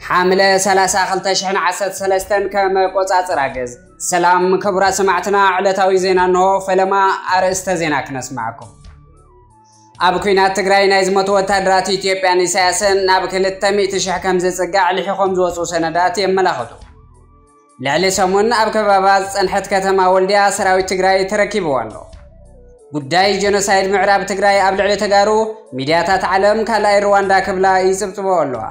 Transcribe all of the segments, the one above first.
ሓምለ ሰላሳ ክልተ ሽሕን ዓሰርተ ሰለስተን ከም ኣቆጻጽራ ግእዝ። ሰላም ክቡራት ሰማዕትና፣ ዕለታዊ ዜና እንሆ። ፈለማ ኣርእስተ ዜና ክነስማዕኩም። ኣብ ኲናት ትግራይ ናይ ዝሞቱ ወታደራት ኢትዮጵያን ኢሳያስን ናብ ክልተ ሚእቲ ሽሕ ከም ዝጽጋዕ ልሒኾም ዝወፁ ሰነዳት የመላኽቱ። ልዕሊ ሰሙን ኣብ ከበባ ዝጸንሐት ከተማ ወልዲያ ሰራዊት ትግራይ ተረኪብዋ ኣሎ። ጉዳይ ጀኖሳይድ ምዕራብ ትግራይ ኣብ ልዕሊ ተጋሩ፣ ሚድያታት ዓለም ካልኣይ ሩዋንዳ ክብላ ይጽብጽቦ ኣለዋ።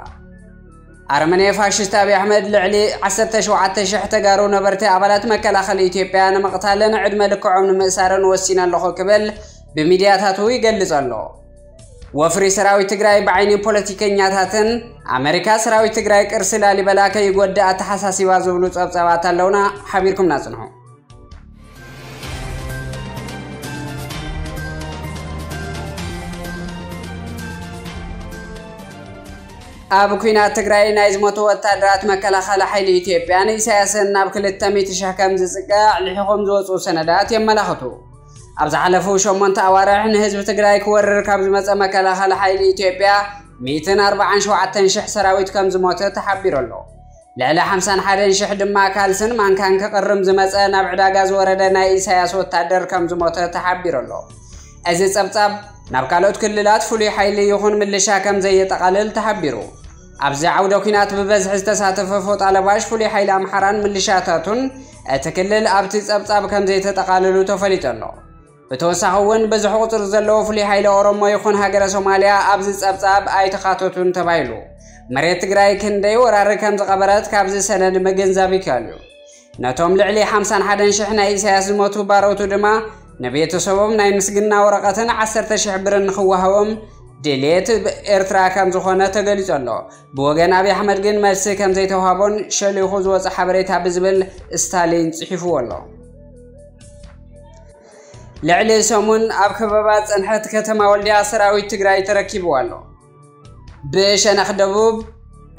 ኣረመኔ ፋሽስት ኣብይ ኣሕመድ ልዕሊ ዓሰርተ ሸውዓተ ሽሕ ተጋሩ ነበርቲ ኣባላት መከላኸሊ ኢትዮጵያ ንምቕታልን ዕድመ ልክዖም ንምእሳርን ወሲነ ኣለኹ ክብል ብሚድያታቱ ይገልጽ ኣሎ። ወፍሪ ሰራዊት ትግራይ ብዓይኒ ፖለቲከኛታትን ኣሜሪካ ሰራዊት ትግራይ ቅርሲ ላሊበላ ከይጎድእ ኣተሓሳሲባ ዝብሉ ጸብጻባት ኣለውና። ሓቢርኩምና ጽንሑ። ኣብ ኲናት ትግራይ ናይ ዝሞቱ ወታደራት መከላኸሊ ሓይሊ ኢትዮጵያን ኢሳያስን ናብ ክልተ ሚእቲ ሽሕ ከም ዝጽጋዕ ልሒኾም ዝወፁ ሰነዳት የመላኽቱ። ኣብ ዝሓለፉ ሸሞንተ ኣዋርሕ ንህዝቢ ትግራይ ክወርር ካብ ዝመፀ መከላኸሊ ሓይሊ ኢትዮጵያ ሚእትን ኣርባዓን ሸውዓተን ሽሕ ሰራዊት ከም ዝሞተ ተሓቢሩ ኣሎ። ልዕሊ ሓምሳን ሓደን ሽሕ ድማ ካልስን ማንካን ክቕርም ዝመፀ ናብ ዕዳጋ ዝወረደ ናይ ኢሳያስ ወታደር ከም ዝሞተ ተሓቢሩ ኣሎ። እዚ ጸብጻብ ናብ ካልኦት ክልላት ፍሉይ ሓይሊ ይኹን ምልሻ ከም ዘየጠቓልል ተሓቢሩ። ኣብዚ ዓውደ ኲናት ብበዝሒ ዝተሳተፈ ፎጣ ለባሽ ፍሉይ ሓይሊ ኣምሓራን ምልሻታቱን እቲ ክልል ኣብቲ ጸብጻብ ከም ዘይተጠቓለሉ ተፈሊጡ ኣሎ። ብተወሳኺ እውን ብዙሕ ቁጽሪ ዘለዎ ፍሉይ ሓይሊ ኦሮሞ ይኹን ሃገረ ሶማልያ ኣብዚ ጸብጻብ ኣይተኻተቱን ተባሂሉ። መሬት ትግራይ ክንደይ ወራሪ ከም ዝቐበረት ካብዚ ሰነድ ምግንዛብ ይከኣል እዩ። ነቶም ልዕሊ ሓምሳን ሓደን ሽሕ ናይ ኢሳያስ ዝሞቱ ባሮቱ ድማ ንቤተሰቦም ናይ ምስግና ወረቐትን ዓሰርተ ሽሕ ብርን ንኽወሃቦም ድሌት ኤርትራ ከም ዝኾነ ተገሊጹ ኣሎ። ብወገን ኣብይ ኣሕመድ ግን መልሲ ከም ዘይተዋህቦን ሸሊኹ ዝወጸ ሓበሬታ ብዝብል ስታሊን ጽሒፍዎ ኣሎ። ልዕሊ ሰሙን ኣብ ከበባ ዝጸንሐት ከተማ ወልዲያ ሰራዊት ትግራይ ተረኪብዋ ኣሎ። ብሸነኽ ደቡብ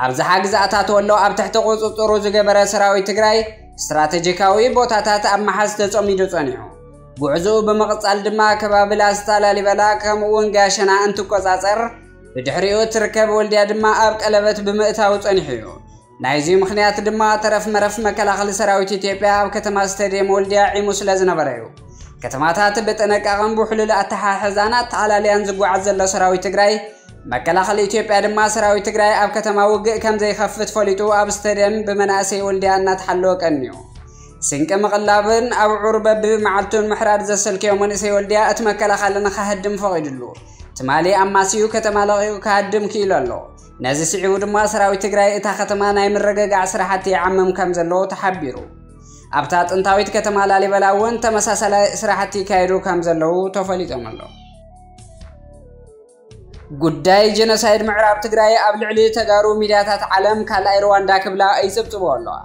ኣብዝሓ ግዝኣታት ወሎ ኣብ ትሕቲ ቁጽጽሩ ዝገበረ ሰራዊት ትግራይ ስትራቴጂካዊ ቦታታት ኣብ መሓዝ ተጸሚዱ ጸኒሑ። ጉዕዞኡ ብምቕጻል ድማ ከባቢ ላስታ ላሊበላ ከምኡ እውን ጋሸና እንትቆጻጸር፣ ብድሕሪኡ እትርከብ ወልዲያ ድማ ኣብ ቀለበት ብምእታው ጸኒሑ እዩ። ናይዚ ምኽንያት ድማ ተረፍ መረፍ መከላኸሊ ሰራዊት ኢትዮጵያ ኣብ ከተማ ስቴዲየም ወልዲያ ዒሙ ስለ ዝነበረ እዩ። ከተማታት ብጥንቃቐን ብሕሉል ኣተሓሕዛን ኣተኣላልያን ዝጓዓዝ ዘሎ ሰራዊት ትግራይ፣ መከላኸሊ ኢትዮጵያ ድማ ሰራዊት ትግራይ ኣብ ከተማ ውግእ ከም ዘይኸፍት ፈሊጡ ኣብ ስቴዲየም ብመናእሰይ ወልዲያ እናተሓለወ ቀንዩ። ስንቂ ምቕላብን ኣብዑር በብመዓልቱን ምሕራድ ዘሰልከዮ መንእሰይ ወልዲያ እቲ መከላኸሊ ንኸህድም ፈቒዱሉ። ትማሊ ኣማስዩ ከተማ ለቒቑ ክሃድም ክኢሉ ኣሎ። ነዚ ስዒቡ ድማ ሰራዊት ትግራይ እታ ከተማ ናይ ምርግጋዕ ስራሕቲ ይዓምም ከም ዘለዎ ተሓቢሩ። ኣብታ ጥንታዊት ከተማ ላሊበላ እውን ተመሳሳላይ ስራሕቲ ይካየዱ ከም ዘለዉ ተፈሊጦም ኣሎ። ጉዳይ ጀኖሳይድ ምዕራብ ትግራይ ኣብ ልዕሊ ተጋሩ ሚድያታት ዓለም ካልኣይ ሩዋንዳ ክብላ ይጽብጽቦ ኣለዋ።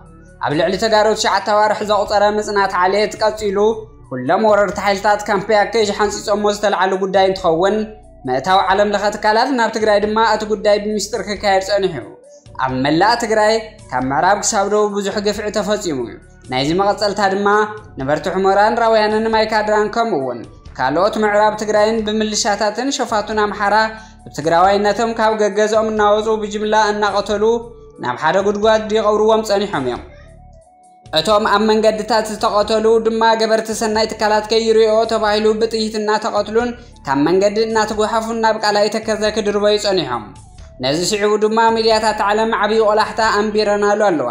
ኣብ ልዕሊ ተጋሩ ትሽዓተ ኣዋርሕ ዘቑጸረ ምጽናት ዓሌት ቀጺሉ፣ ኩሎም ወረርቲ ሓይልታት ካምፕ ያከይ ሓንጺጾሞ ዝተልዓሉ ጉዳይ እንትኸውን፣ ምእታው ዓለም ለኸ ትካላት ናብ ትግራይ ድማ እቲ ጉዳይ ብምስጢር ክካየድ ጸኒሑ እዩ። ኣብ መላእ ትግራይ ካብ ምዕራብ ክሳብ ደቡብ ብዙሕ ግፍዒ ተፈጺሙ እዩ። ናይዚ መቐጸልታ ድማ ነበርቲ ሑመራን ራውያንን ማይካድራን ከምኡ እውን ካልኦት ምዕራብ ትግራይን ብምልሻታትን ሸፋቱን ኣምሓራ ብትግራዋይነቶም ካብ ገገዝኦም እናወፁ ብጅምላ እናቐተሉ ናብ ሓደ ጉድጓድ ይቐብርዎም ጸኒሖም እዮም። እቶም ኣብ መንገድታት ዝተቐተሉ ድማ ገበርቲ ሰናይ ትካላት ከይሪኦ ተባሂሉ ብጥይት እናተቐትሉን ካብ መንገዲ እናተጓሓፉን ናብ ቃላይ ተከዘ ክድርበዩ ጸኒሖም። ነዚ ስዒቡ ድማ ሚድያታት ዓለም ዓብዪ ቆላሕታ ኣንቢረናሉ ኣለዋ።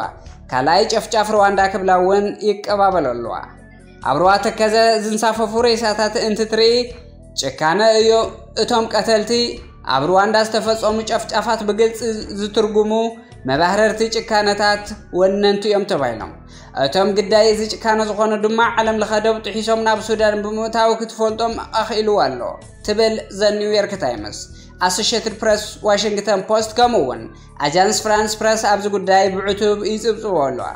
ካልኣይ ጨፍጫፍ ሩዋንዳ ክብላ እውን ይቀባበሉ ኣለዋ። ኣብ ሩባ ተከዘ ዝንሳፈፉ ሬሳታት እንትትርኢ ጭካነ እዩ። እቶም ቀተልቲ ኣብ ሩዋንዳ ዝተፈጸሙ ጨፍጫፋት ብግልጺ ዝትርጉሙ መባህረርቲ ጭካነታት ወነንቲ እዮም ተባሂሎም። እቶም ግዳይ እዚ ጭካነ ዝኾኑ ድማ ዓለም ለኸ ዶብ ጥሒሶም ናብ ሱዳን ብምእታው ክትፈልጦም ኣኽኢልዋ ኣሎ ትብል ዘ ኒውዮርክ ታይምስ፣ ኣሶሽየትድ ፕረስ፣ ዋሽንግተን ፖስት ከምኡ እውን ኣጃንስ ፍራንስ ፕረስ ኣብዚ ጉዳይ ብዕቱብ ይጽብጽቦ ኣለዋ።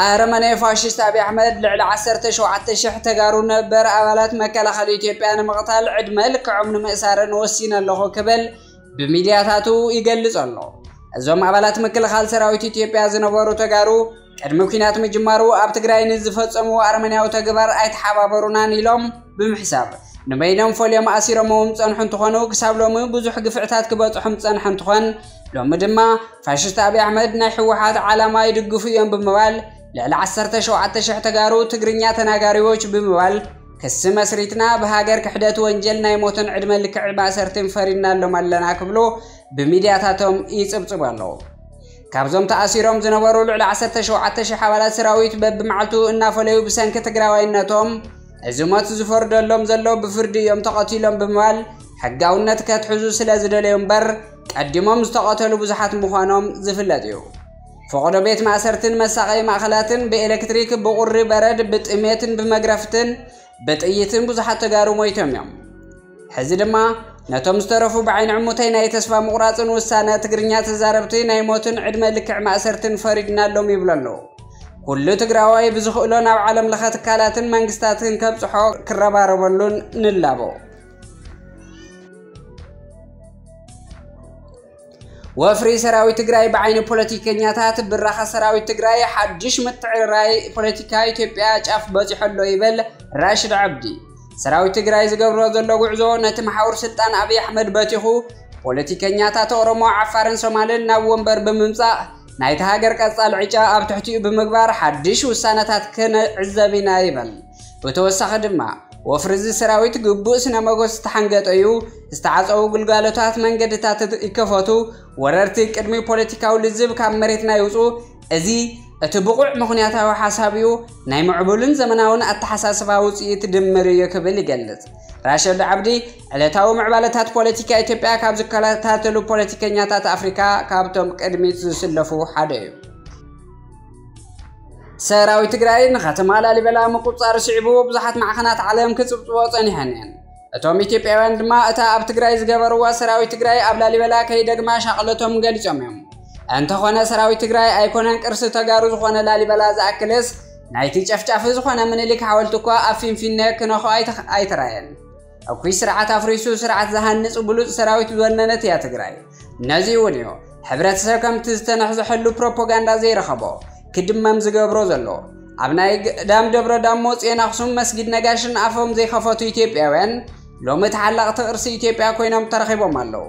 ኣረመኔ ፋሽስት ኣብይ ኣሕመድ ልዕሊ ዓሰርተ ሸውዓተ ሽሕ ተጋሩ ነበር ኣባላት መከላኸሊ ኢትዮጵያ ንምቕታል ዕድመ ልክዖም ንምእሳርን ወሲነ ኣለኹ ክብል ብሚድያታቱ ይገልጽ ኣሎ። እዞም ኣባላት ምክልኻል ሰራዊት ኢትዮጵያ ዝነበሩ ተጋሩ ቅድሚ ኲናት ምጅማሩ ኣብ ትግራይ ንዝፈጸምዎ ኣረመኔያዊ ተግባር ኣይተሓባበሩናን ኢሎም ብምሕሳብ ንበይኖም ፈልዮም ኣሲሮምዎም ዝጸንሑ እንትኾኑ፣ ክሳብ ሎሚ ብዙሕ ግፍዕታት ክበጽሖም ዝጸንሐ እንትኾን፣ ሎሚ ድማ ፋሽስት ኣብይ ኣሕመድ ናይ ህወሓት ዓላማ ይድግፉ እዮም ብምባል ልዕሊ ዓሰርተ ሸውዓተ ሽሕ ተጋሩ ትግርኛ ተናጋሪዎች ብምባል ክሲ መስሪትና ብሃገር ክሕደት ወንጀል ናይ ሞትን ዕድመ ልክዕ ማእሰርትን ፈሪድናሎም ኣለና ክብሉ ብሚድያታቶም ይጽብጽቡ ኣለዉ። ካብዞም ተኣሲሮም ዝነበሩ ልዕሊ ዓሰርተ ሸውዓተ ሽሕ ኣባላት ሰራዊት በብመዓልቱ እናፈለዩ ብሰንኪ ትግራዋይነቶም እዚ ሞት ዝፈርደሎም ዘሎ ብፍርዲ እዮም ተቐቲሎም ብምባል ሕጋውነት ከትሕዙ ስለ ዝደለዩ እምበር ቀዲሞም ዝተቐተሉ ብዙሓት ምዃኖም ዝፍለጥ እዩ። ፈቐዶ ቤት ማእሰርትን መሳቐዪ ማእኸላትን ብኤሌክትሪክ፣ ብቑሪ በረድ፣ ብጥሜትን ብመግረፍትን ብጥይትን ብዙሓት ተጋሩ ሞይቶም እዮም። ሕዚ ድማ ነቶም ዝተረፉ ብዓይኒ ዕሙተይ ናይ ተስፋ ምቑራጽን ውሳነ ትግርኛ ተዛረብቲ ናይ ሞትን ዕድመ ልክዕ ማእሰርትን ፈሪድናሎም ይብሉ ኣለዉ። ኩሉ ትግራዋይ ብዝኽእሎ ናብ ዓለም ለኸ ትካላትን መንግስታትን ከብጽሖ ክረባረበሉን ንላቦ። ወፍሪ ሰራዊት ትግራይ ብዓይኒ ፖለቲከኛታት ብራኸ ሰራዊት ትግራይ ሓድሽ ምትዕርራይ ፖለቲካ ኢትዮጵያ ጫፍ በፂሑ ኣሎ ይብል ራሽድ ዓብዲ። ሰራዊት ትግራይ ዝገብሮ ዘሎ ጉዕዞ ነቲ መሓውር ስልጣን ኣብይ ኣሕመድ በቲኹ ፖለቲከኛታት ኦሮሞ፣ ዓፋርን ሶማልን ናብ ወንበር ብምምፃእ ናይቲ ሃገር ቀፃል ዕጫ ኣብ ትሕቲኡ ብምግባር ሓድሽ ውሳነታት ክንዕዘብ ኢና ይብል። ብተወሳኺ ድማ ወፍሪ እዚ ሰራዊት ግቡእ ስነ መጎስ ዝተሓንገጠ እዩ። ዝተዓፀዉ ግልጋሎታት መንገድታት ይከፈቱ፣ ወረርቲ ቅድሚ ፖለቲካዊ ልዝብ ካብ መሬትና ይውፁ። እዚ እቲ ብቑዕ ምኽንያታዊ ሓሳብ እዩ። ናይ ምዕቡልን ዘመናውን ኣተሓሳስባ ውፅኢት ድምር እዩ ክብል ይገልጽ። ራሸድ ዓብዲ ዕለታዊ ምዕባለታት ፖለቲካ ኢትዮጵያ ካብ ዝከታተሉ ፖለቲከኛታት ኣፍሪካ ካብቶም ቅድሚት ዝስለፉ ሓደ እዩ። ሰራዊት ትግራይ ንከተማ ላሊበላ ምቁፅፃር ስዒቡ ብዙሓት ማዕኸናት ዓለም ክፅብፅቦ ፀኒሐን እየን። እቶም ኢትዮጵያውያን ድማ እታ ኣብ ትግራይ ዝገበርዋ ሰራዊት ትግራይ ኣብ ላሊበላ ከይደግማ ሻቕለቶም ገሊፆም እዮም። እንተኾነ ሰራዊት ትግራይ ኣይኮነን ቅርሲ ተጋሩ ዝኾነ ላሊበላ ዝኣክልስ ናይቲ ጨፍጫፊ ዝኾነ ምኒልክ ሓወልቲ እኳ ኣብ ፊንፊነ ክነኾ ኣይተ-፣ ኣይተራየን። እኩይ ስርዓት ኣፍሪሱ ስርዓት ዝሃንጽ ብሉጽ ሰራዊት ዝወነነት እያ ትግራይ። ነዚ እውን እዩ ሕብረተሰብ ከምቲ ዝተነሕዘሐሉ ፕሮፓጋንዳ ዘይረኸቦ ክድመም ዝገብሮ ዘሎ። ኣብ ናይ ገዳም ደብረ ዳሞ፣ ጽዮን ኣኽሱም፣ መስጊድ ነጋሽን ኣፎም ዘይኸፈቱ ኢትዮጵያውያን ሎሚ ተሓለቕቲ ቅርሲ ኢትዮጵያ ኮይኖም ተረኺቦም ኣለዉ።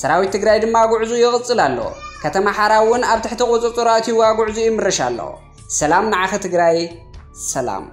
ሰራዊት ትግራይ ድማ ጉዕዙ ይቕጽል ኣሎ። ከተማ ሓራ እውን ኣብ ትሕቲ ቁጽጽሩ ኣትዩዋ ጉዕዙ ይምርሽ ኣሎ። ሰላም ንዓኺ ትግራይ፣ ሰላም።